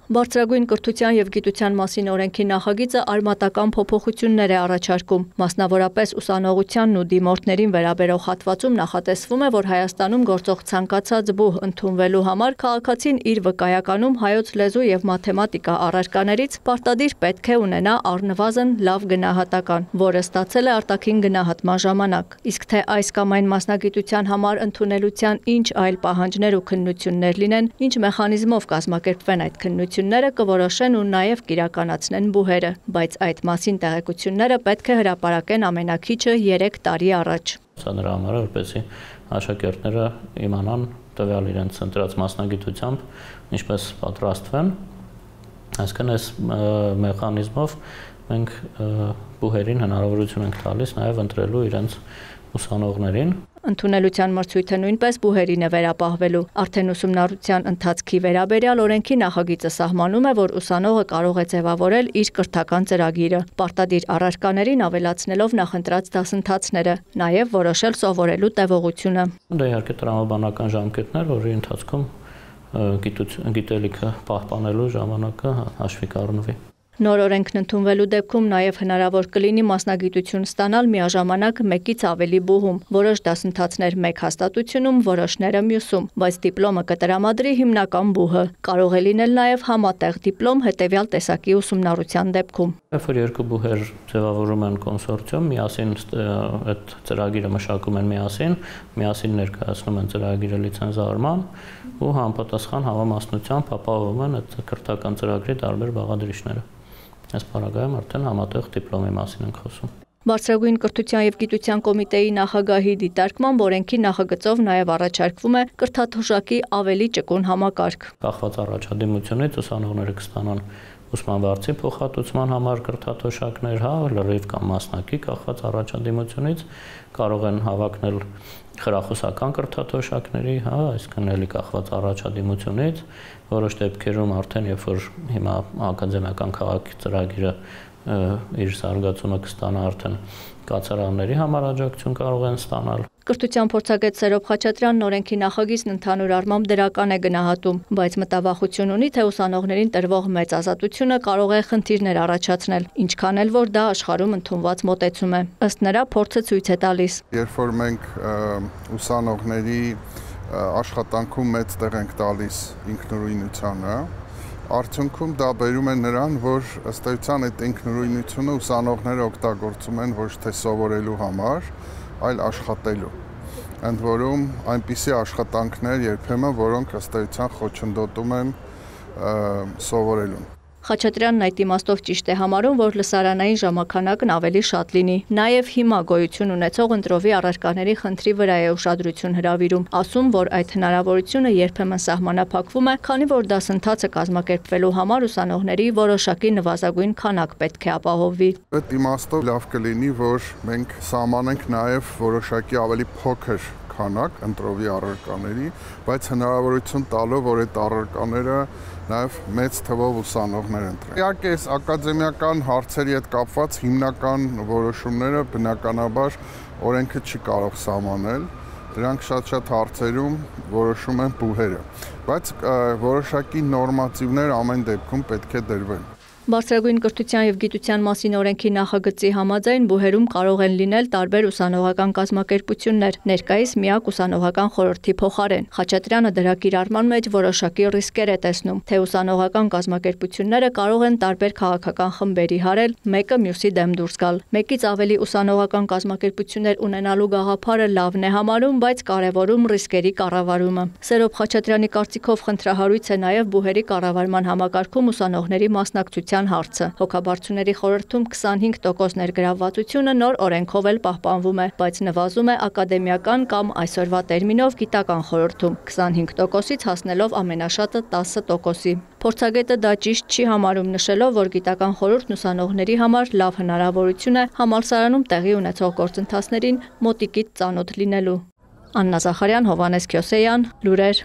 Բարձրագույն կրթության և գիտության մասին օրենքի նախագիծը արմատական փոփոխություններ է առաջարկում։ Մասնավորապես ուսանողությանն ու դիմորդներին վերաբերող հատվածում նախատեսվում է, որ Հայաստանում գործող ցանկացած բուհ ընդունվելու համար քաղաքացին իր վկայականում հայոց լեզու և մաթեմատիկա առարկաներից պարտադիր պետք է ունենա առնվազն լավ գնահատական, որը ստացել է արտաքին գնահատման ժամանակ։ Իսկ թե այս կամ այն մասնագիտության համար ընդունելության ինչ այլ պահանջներ ու քննություններ լինեն, ինչ մեխանիզմով կազմակերպվեն այդ քննությունները կորոշեն ու նաև կիրականացնեն բուհերը, բայց այդ մասին տեղեկությունները պետք է հրապարակեն ամենակիչը 3 տարի առաջ։ Սա նրա համար է, որպեսզի աշակերտները իմանան տվյալ իրենց ընտրած մասնագիտությամբ ինչպես պատրաստվեն, այսինքն այս մեխանիզմով մենք բուհերին հնարավորություն ենք տալիս նաև ընտրելու իրենց ուսանողներին։ Ընդունելության մրցույթը նույնպես բուհերին է վերապահվելու։ Արդեն ուսումնառության ընթացքի վերաբերյալ օրենքի նախագիծը սահմանում է, որ ուսանողը կարող է ձևավորել իր կրթական ծրագիրը, պարտադիր առարկաներին ավելացնելով նախընտրած դասընթացները, նաև որոշել սովորելու տևողությունը։ Դա իհարկե տրամաբանական ժամկետներ, որի ընթացքում գիտելիքը պահպանելու ժամանակը հաշվի կառնվի։ Նոր օրենքն ընդունվելու դեպքում նաև հնարավոր կլինի մասնագիտություն ստանալ միաժամանակ մեկից ավելի բուհում, որոշ դասընթացներ մեկ հաստատությունում, որոշները մյուսում, բայց դիպլոմը կտրամադրի հիմնական բուհը։ Կարող է լինել նաև համատեղ դիպլոմ հետևյալ տեսակի ուսումնառության դեպքում։ Երբ որ երկու բուհեր ձևավորում են կոնսորցիում, միասին այդ ծրագիրը մշակում են միասին ներկայացնում են ծրագիրը լիցենզավորման ու համապատասխան համամասնությամբ ապահովում են այդ կրթական ծրագրի տարբեր բաղադրիչները։ Այս պարագայում արդեն համատեղ դիպլոմի մասին ենք խոսում։ Բարձրագույն կրթության և գիտության կոմիտեի նախագահի դիտարկմամբ օրենքի նախագծով նաև առաջարկվում է կրթաթոշակի ավելի ճկուն համակարգ։ Կախված առաջադիմությունից ուսանողները կստանան ուսման վարձի փոխհատուցման համար կրթաթոշակներ, լրիվ կամ մասնակի կախված առաջադիմությունից կարող են հավակնել խրախուսական կրթաթոշակների, այսինքն էլի կախված առաջադիմությունից, որոշ դեպքերում արդեն երբ որ հիմա ակադեմիական քաղաքի ծրագիրը իր զարգացումը կստանա, արդեն կացարանների համար աջակցություն կարող են ստանալ։ Կրթության փորձագետ Սերոբ Խաչատրյանն օրենքի նախագիծն ընդհանուր առմամբ դրական է գնահատում, բայց մտավախություն ունի, թե ուսանողներին տրվող մեծ ազատությունը կարող է խնդիրներ առաջացնել, ինչքան էլ որ դա աշխարհում ընդունված մոտեցում է։ Ըստ նրա, փորձը ցույց է տալիս. Երբ որ մենք ուսանողների աշխատանքում մեծ տեղ ենք տալիս ինքնուրույնությանը, արդյունքում դա բերում է նրան, որ ըստ էության այդ ինքնուրույնությունը ուսանողները օգտագործում են ոչ թե սովորելու համար, այլ աշխատելու։ Ընդ որում այնպիսի աշխատանքներ երբեմն, որոնք ըստ էության խոչընդոտում են սովորելուն։ Խաչատրյանն այդ իմաստով ճիշտ է համարում, որ լսարանային ժամանակն ավելի շատ լինի։ Նաև հիմա գոյություն ունեցող ընտրովի առարկաների խնդրի վրա է ուշադրություն հրավիրում, ասում, որ այդ հնարավորությունը երբեմն սահմանափակվում է, քանի որ դասընթացը կազմակերպվելու համար ուսանողների որոշակի նվազագույն քանակ պետք է ապահովվի։ Այդ իմաստով լավ կլինի, որ մենք սահմանենք նաև որոշակի ավելի փոքր քանակ ընտրովի առարկաների, բայց հնարավորություն տալով, որ այդ առարկաները նաև մեծ թվով ուսանողներ ընտրեն։ Իհարկե, այս ակադեմիական հարցերի հետ կապված հիմնական որոշումները բնականաբար օրենքը չի կարող սահմանել, դրանք շատ հարցերում որոշում են բուհերը, բայց որոշակի նորմատիվներ ամեն դեպքում պետք է դրվեն։ Բարձրագույն կրթության և գիտության մասին օրենքի նախագծի համաձայն բուհերում կարող են լինել տարբեր ուսանողական կազմակերպություններ, ներկայիս միակ ուսանողական խորհրդի փոխարեն։ Խաչատրյանը դրա կիրառման մեջ որոշակի ռիսկեր է տեսնում, թե ուսանողական կազմակերպությունները կարող են տարբեր քաղաքական խմբերի հարել, մեկը մյուսի դեմ դուրս գալ։ Մեկից ավելի ուսանողական կազմակերպություններ ունենալու գաղափարը լավն է համարում, բայց կարևորում ռիսկերի կառավարումը։ Սերոբ Խաչատրյանի կարծիքով խնդրահարույց է նաև բուհերի կառավարման համակարգում ուսանողների մասնակցության հարցը։ Հոգաբարձուների խորհրդում 25% ներգրավվածությունը նոր օրենքով էլ պահպանվում է, բայց նվազում է ակադեմիական կամ այսօրվա տերմինով գիտական խորհրդում 25%-ից հասնելով ամենաշատը 10%-ի։ Փորձագետը դա ճիշտ չի համարում, նշելով, որ գիտական խորհուրդն ուսանողների համար լավ հնարավորություն է համալսարանում տեղի ունեցող գործընթացներին մոտիկից ծանոթ լինելու։ Աննա Զախարյան, Հովհաննես Քյոսեյան, Լուրեր։